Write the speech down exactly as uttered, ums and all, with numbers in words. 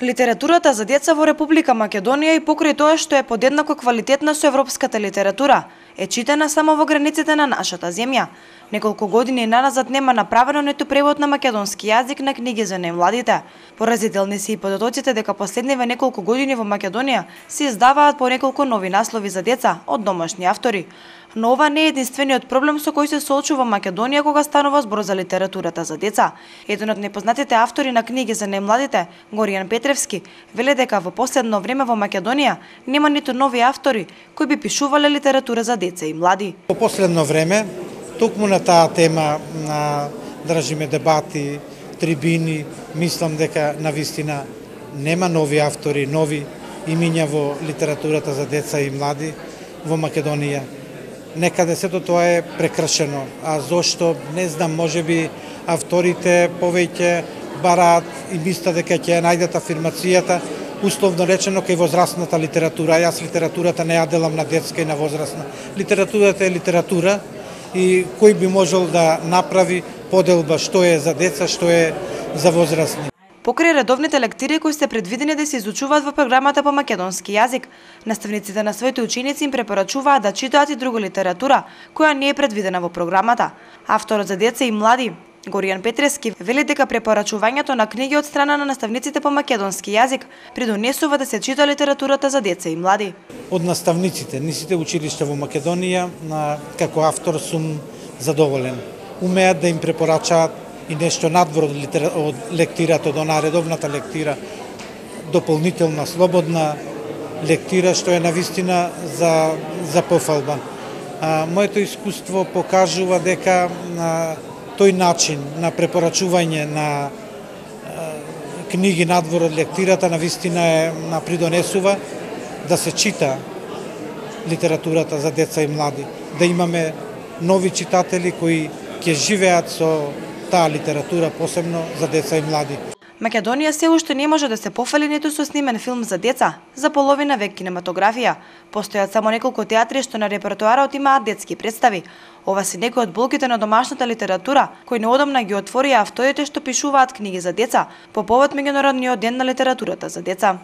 Литературата за деца во Република Македонија и покрај тоа што е подеднако квалитетна со европската литература, е читана само во границите на нашата земја. Неколку години наназад нема направено ниту превод на македонски јазик на книги за најмладите. Поразителни се и податоците дека последниве неколку години во Македонија се издаваат по неколку нови наслови за деца од домашни автори. Но ова не е единствениот проблем со кој се соочува Македонија кога станува збор за литературата за деца. Еден од непознатите автори на книги за најмладите, Горијан Петревски, веле дека во последно време во Македонија нема ниту нови автори кои би пишувале литература за деца и млади. Во последно време, токму на таа тема на држиме дебати, трибини, мислам дека навистина нема нови автори, нови имиња во литературата за деца и млади во Македонија. Некаде сето тоа е прекршено. А зошто? Не знам, можеби авторите повеќе бараат и мислат дека ќе најдат афирмацијата, условно речено, кај возрастната литература. Јас литературата не ја делам на детска и на возрастна. Литературата е литература и кој би можел да направи поделба што е за деца, што е за возрастни. Покрај редовните лектири кои се предвидени да се изучуваат во програмата по македонски јазик, наставниците на своите ученици им препорачуваат да читаат и друга литература која не е предвидена во програмата. Авторот за деца и млади, Горијан Петревски, вели дека препорачувањето на книги од страна на наставниците по македонски јазик придонесува да се чита литературата за деца и млади. Од наставниците, ни сите училишта во Македонија, како автор сум задоволен. Умеат да им препорачаат и нешто надвор од, литера... од лектирата, од онаа редовната лектира, дополнителна, слободна лектира, што е навистина за, за пофалба. А, моето искуство покажува дека а, тој начин на препорачување на а, книги надвор од лектирата навистина е на придонесува да се чита литературата за деца и млади, да имаме нови читатели кои ќе живеат со таа литература, посебно за деца и млади. Македонија се уште не може да се пофали ниту со снимен филм за деца, за половина век кинематографија. Постојат само неколку театри што на репертоарот имаат детски представи. Ова се некои од болките на домашната литература, кои неодамна ги отворија авторите што пишуваат книги за деца по повод меѓународниот ден на литературата за деца.